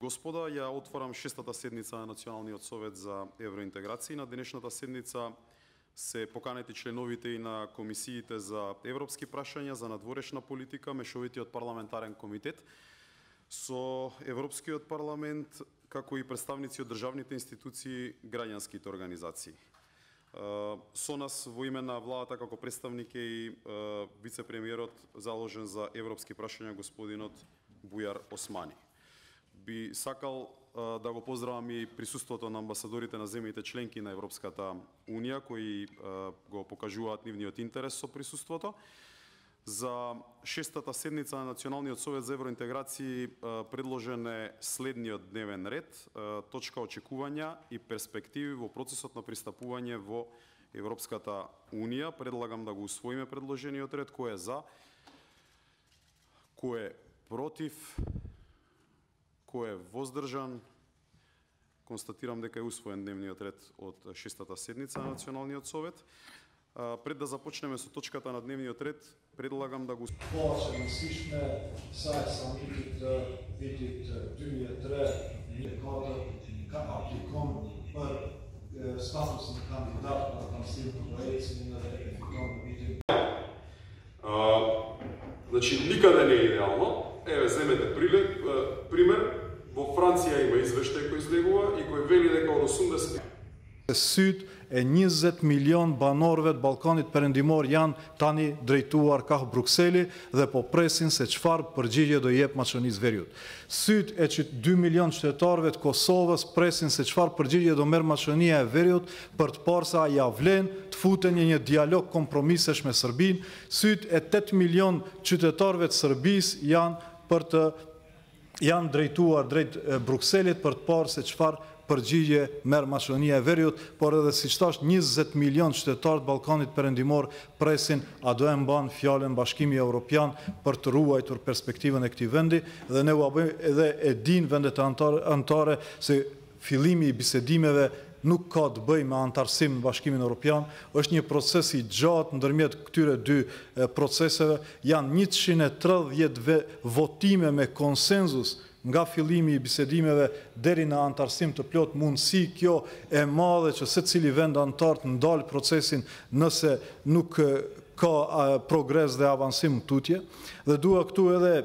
Господа, ја отворам 6-та седница на Националниот совет за евроинтеграција. На денешната седница се поканети членовите и на комисиите за европски прашања, за надворешна политика, Мешовитиот парламентарен комитет со Европскиот парламент, како и представници од државните институции, граѓанските организации. Со нас во име на владата како представник е и вице-премиерот заложен за европски прашања господинот Бујар Османи. Би сакал да го поздравам и присуството на амбасадорите на земјите членки на Европската Унија, кои го покажуваат нивниот интерес со присуството. За 6-та седница на Националниот совет за евроинтеграција предложен е следниот дневен ред, точка очекувања и перспективи во процесот на пристапување во Европската Унија. Предлагам да го усвоиме предложениот ред. Кој е за? Кој е против? Кој е воздржан? Констатирам дека е усвоен дневниот ред од 6-та седница на Националниот совет. Пред да започнеме со точката на дневниот ред, предлагам да го... Voorzitter, slišme, saj sam vidit dnevnitre ka aplikon per statusni kandidat na naslednjo predsjednika da efektivno vidim. Значи, никаде не е идеално. Еве, земете пример. Во Франција има извештај кој излегува и кој вели дека од 80... Syd e 20 milion banorëve të Ballkanit Perëndimor janë tani drejtuar ka Brukseli dhe po presin se çfarë përgjigje do jep Maqedonisë Veriut. Syd e 2 milion qytetarëve të Kosovës presin se çfarë përgjigje do merr Maqedonia e Veriut për të parë sa ja vlen të futen në një dialog kompromisesh me Serbinë. Syd e 8 milion qytetarëve të Serbisë janë drejtuar drejt Brukselit për të parë se çfarë përgjigje merr Maqedonia e Veriut, por edhe siç thash 20 milion qytetarë të Ballkanit Perëndimor presin a do e mban fjalën Bashkimi Evropian për të ruajtur perspektivën e këtij vendi dhe ne u bëjmë edhe e din vendet anëtare se fillimi i bisedimeve nuk ka të bëjë me antarësim në Bashkimin Evropian, është një proces i gjatë ndërmjet këtyre dy proceseve, janë 130 votime me konsenzus nga fillimi i bisedimeve deri në antarësim të plot. Mundësi kjo e madhe që secili vend antar të ndalë procesin nëse nuk ka progres dhe avansim tutje. Dhe dua këtu edhe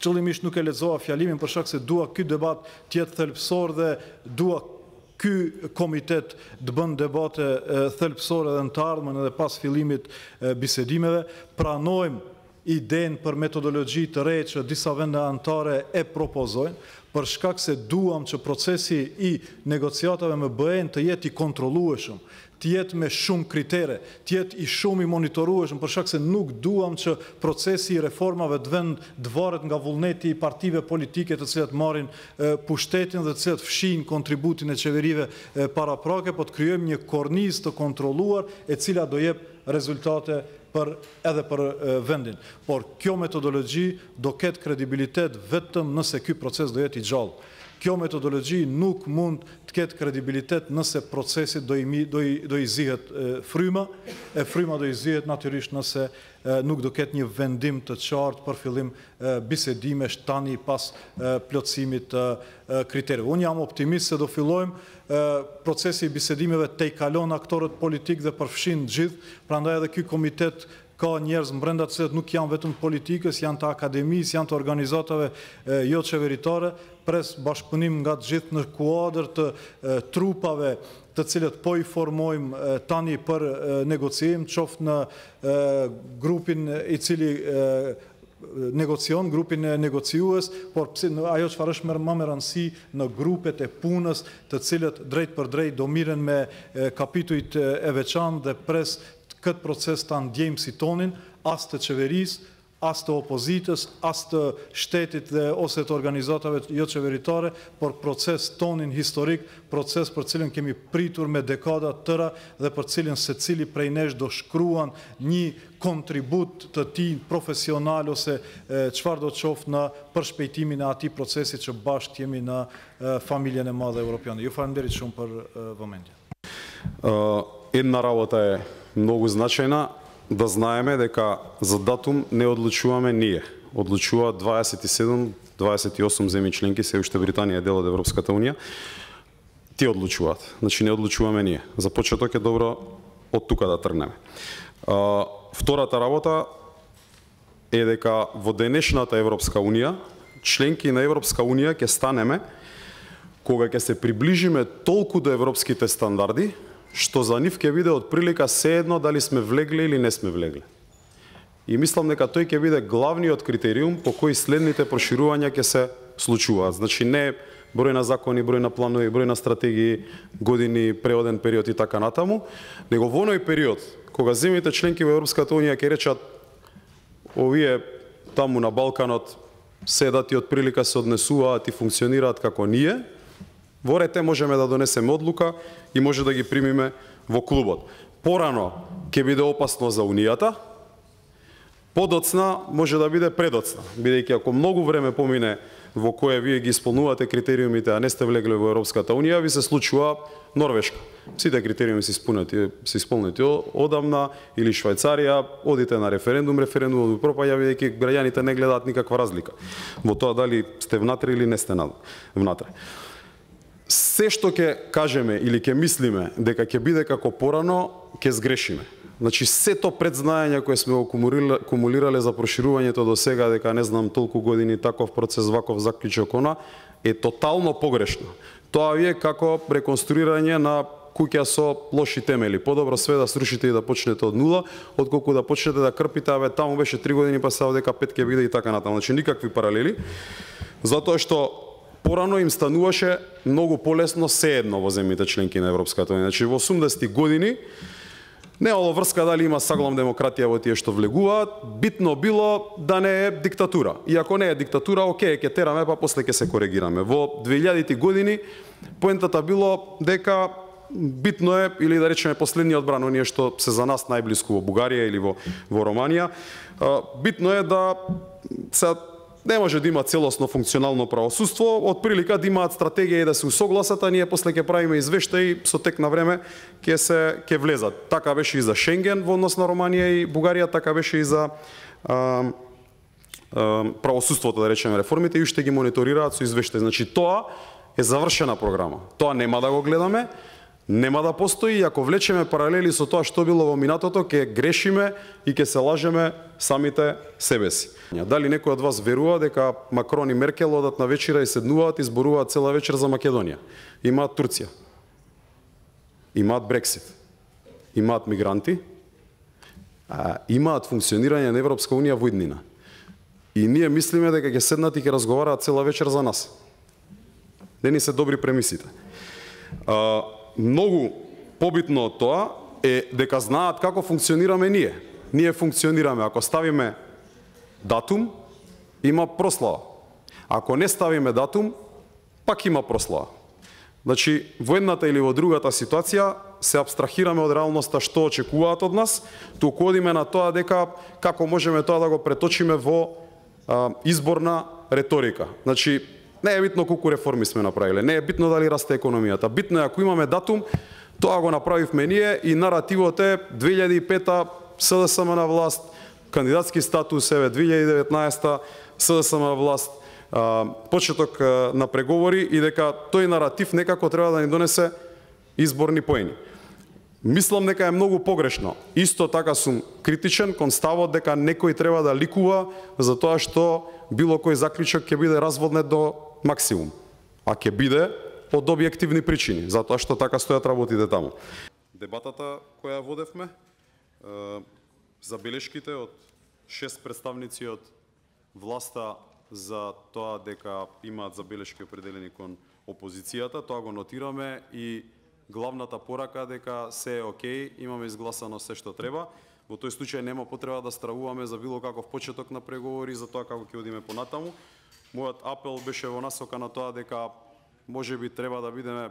qëllimisht nuk e lexova fjalimin për shkak se dua ky debat të jetë thelbësor dhe dua ky komitet të bën debate thelbësore dhe në të ardhmen edhe pas fillimit bisedimeve. Pranojmë idenë për metodologji të re që disa vende anëtare e propozojnë, për shkak se duam që procesi i negociatave me BE-n të jetë i kontrollueshëm, të jetë me shumë kritere, të jetë i shumë i monitorueshëm, për shkak se nuk duam që procesi i reformave të varet nga vullneti i partive politike të cilat marrin pushtetin dhe të cilat fshin kontributin e qeverive paraprake, po të krijojmë një kornizë të kontrolluar e cila do jep rezultate edhe për vendin. Por kjo metodologji do ketë kredibilitet vetëm nëse ky proces do jetë i gjallë. Kjo metodologji nuk mund të ketë kredibilitet nëse procesit do i zihet fryma, e fryma do i zihet natyrisht nëse nuk do ketë një vendim të qartë për fillim bisedime tani pas plotësimit të kriterëve. Unë jam optimist se do fillojmë procesi i bisedimeve te i kalon aktorët politik dhe përfshin gjithë, prandaj edhe ky komitet ka njerëz brenda të cilët nuk janë vetëm politikës, janë të akademisë, janë të organizatave jo qeveritare, pres bashkëpunim nga të gjithë në kuadër të trupave të cilët po i formojmë tani për negociim, qoftë në grupin i cili negocion, grupin negociues, por ajo çfarë është më me rëndësi në grupet e punës të cilët drejt për drejt do miren me kapitujt e veçantë dhe pres këtë proces të ndjejmë si tonin, as të qeverisë, as të opozitës, as të shtetit dhe ose të organizatave jo qeveritare, por proces tonin historik, proces për cilin kemi pritur me dekada tëra dhe për cilin se cili prej nesh do shkruan një kontribut të ti profesional ose çfarë do të qoftë në përshpejtimin e atij procesi që bashkë jemi në familjen e madhe evropiane. Ju falenderit shumë për vëmendje. Една работа е многу значајна, да знаеме дека за датум не одлучуваме ние. Одлучуваат 27 28 земји членки, се уште Британија е дел од Европската унија, ти одлучуваат. Значи не одлучуваме ние. За почеток е добро од тука да тргнеме. Втората работа е дека во денешната Европска унија, членки на Европска унија ќе станеме кога ќе се приближиме толку до европските стандарди, што за нив ќе биде од прилика сеедно дали сме влегле или не сме влегле. И мислам дека тој ќе биде главниот критериум по кој следните проширувања ќе се случуваат. Значи не број на закони, број на планови, број на стратегии, години, преоден период и така натаму, него во оној период кога земјите членки во Европската унија ќе речат овие таму на Балканот седат и од прилика се однесуваат и функционираат како ние, во рете можеме да донесеме одлука и може да ги примиме во клубот. Порано ќе биде опасно за Унијата, подоцна може да биде предоцна, бидејќи ако многу време помине во кое вие ги исполнувате критериумите, а не сте влегле во Европската унија, ви се случува Норвешка. Сите критериуми се исполнети одамна, или Швајцарија, одите на референдумот пропаѓа, бидејќи граѓаните не гледаат никаква разлика во тоа дали сте внатре или не сте внатре. Се што ќе кажеме или ќе мислиме дека ќе биде како порано, ќе сгрешиме. Значи, сето предзнаење кои сме кумулирале за проширувањето до сега, дека не знам толку години таков процес, ваков заклучок, она, е тотално погрешно. Тоа е како реконструирање на куќа со лоши темели. Подобро све да срушите и да почнете од нула, отколку да почнете да крпите, абе таму беше 3 години, па сега дека 5 ќе биде и така натаму. Значи, никакви паралели, затоа што порано им стануваше многу полесно сеедно во земјите членки на Европската унија. Значи, во 80-ти години немало врска дали има саглам демократија во тие што влегуваат, битно било да не е диктатура. И ако не е диктатура, окей, ќе тераме, па после ќе се коригираме. Во 2000-ти години поентата било дека битно е, или да речеме последниот бран, оние што се за нас најблиску во Бугарија или во Романија, битно е да се не може да има целосно функционално правосудство, од прилика да имаат стратегија и да се усогласат, а ние после ќе правиме извештаи со тек на време ќе влезат. Така беше и за Шенген во однос на Романија и Бугарија, така беше и за правосудството, да речеме, реформите, и уште ги мониторираат со извештаи. Значи тоа е завршена програма. Тоа нема да го гледаме, нема да постои, и ако влечеме паралели со тоа што било во минатото, ќе грешиме и ќе се лажеме самите себе си. Дали некој од вас верува дека Макрон и Меркел одат на вечера и седнуваат и зборуваат цела вечер за Македонија? Имаат Турција, имаат Брексит, имаат мигранти, имаат функционирање на Европска унија во иднина. И ние мислиме дека ќе седнат и ќе разговараат цела вечер за нас. Не ни се добри премисите. Многу побитно од тоа е дека знаат како функционираме ние. Ние функционираме, ако ставиме датум, има прослава. Ако не ставиме датум, пак има прослава. Значи, во едната или во другата ситуација се абстрахираме од реалноста што очекуваат од нас, туку одиме на тоа дека како можеме тоа да го преточиме во изборна реторика. Значи, не е битно колку реформи сме направиле, не е битно дали расте економијата. Битно е ако имаме датум, тоа го направивме ние и наративот е 2005-та СДСМ на власт, кандидатски статус, еве 2019-та СДСМ на власт, почеток на преговори, и дека тој наратив некако треба да ни донесе изборни поени. Мислам дека е многу погрешно. Исто така сум критичен кон ставот дека некој треба да ликува за тоа што било кој заклучок ќе биде разводнет до максимум, а ќе биде од објективни причини, затоа што така стојат работите таму. Дебатата која водевме, забелешките од 6 представници од власта за тоа дека имаат забелешки определени кон опозицијата, тоа го нотираме, и главната порака дека се е окей, имаме изгласано се што треба. Во тој случај нема потреба да стравуваме за било каков почеток на преговори, за тоа како ќе одиме понатаму. Мојот апел беше во насока на тоа дека можеби треба да бидеме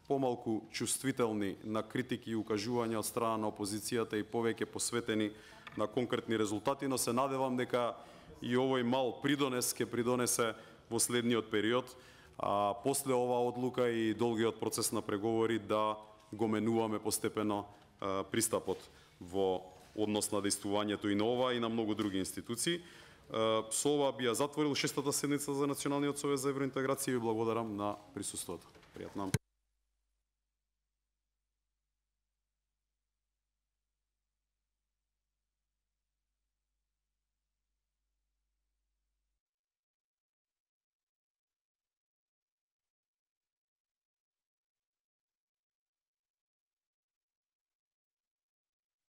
помалку чувствителни на критики и укажувања од страна на опозицијата и повеќе посветени на конкретни резултати, но се надевам дека и овој мал придонес ќе придонесе во следниот период, а после оваа одлука и долгиот процес на преговори да го менуваме постепено пристапот во однос на действувањето и на ова и на многу други институции. Со ова би ја затворил 6-та седница за Националниот совет за евроинтеграција и ви благодарам на присуството. Пријатно.